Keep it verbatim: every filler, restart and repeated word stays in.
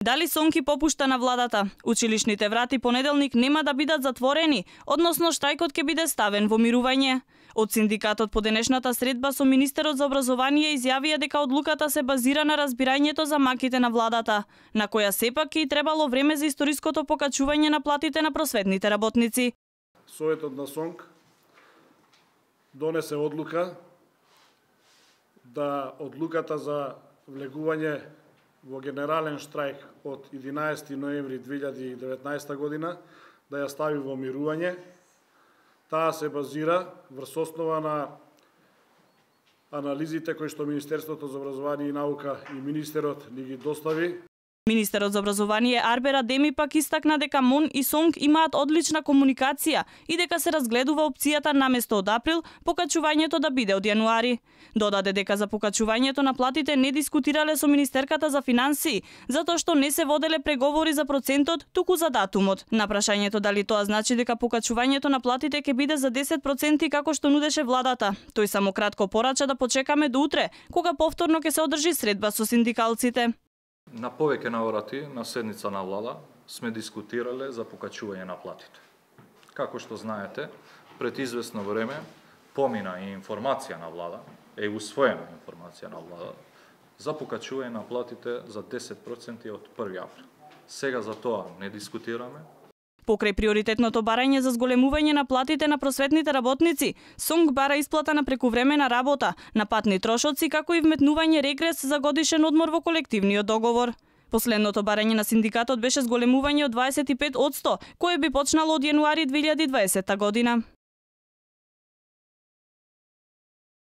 Дали Сонки попушта на владата? Училишните врати понеделник нема да бидат затворени, односно штрајкот ќе биде ставен во мирување. Од синдикатот по денешната средба со министерот за образование изјавија дека одлуката се базира на разбирањето за маките на владата, на која сепак ќе и требало време за историското покачување на платите на просветните работници. Советот на СОНК донесе одлука да одлуката за влегување во генерален штрајк од единаесети ноември две илјади и деветнаесета година да ја стави во мирување. Таа се базира врз основа на анализите кои што Министерството за образование и наука и министерот ни ги достави. Министерот за образование Арбер Адеми пак истакна дека МОН и СОНК имаат одлична комуникација и дека се разгледува опцијата наместо од април покачувањето да биде од јануари. Додаде дека за покачувањето на платите не дискутирале со Министерката за финансии, затоа што не се воделе преговори за процентот, туку за датумот. На прашањето дали тоа значи дека покачувањето на платите ќе биде за десет проценти како што нудеше владата, тој само кратко порача да почекаме до утре, кога повторно ќе се одржи средба со синдикалците. На повеќе наврати на седница на влада сме дискутирале за покачување на платите. Како што знаете, пред известно време помина и информација на влада, е усвоена информација на влада за покачување на платите за десет проценти од први април. Сега за тоа не дискутираме. Покрај приоритетното барање за зголемување на платите на просветните работници, СОНК бара исплата на прекувремена работа, на патни трошоци, како и вметнување регрес за годишен одмор во колективниот договор. Последното барање на синдикатот беше зголемување од дваесет и пет одсто, кое би почнало од јануари две илјади и дваесета година.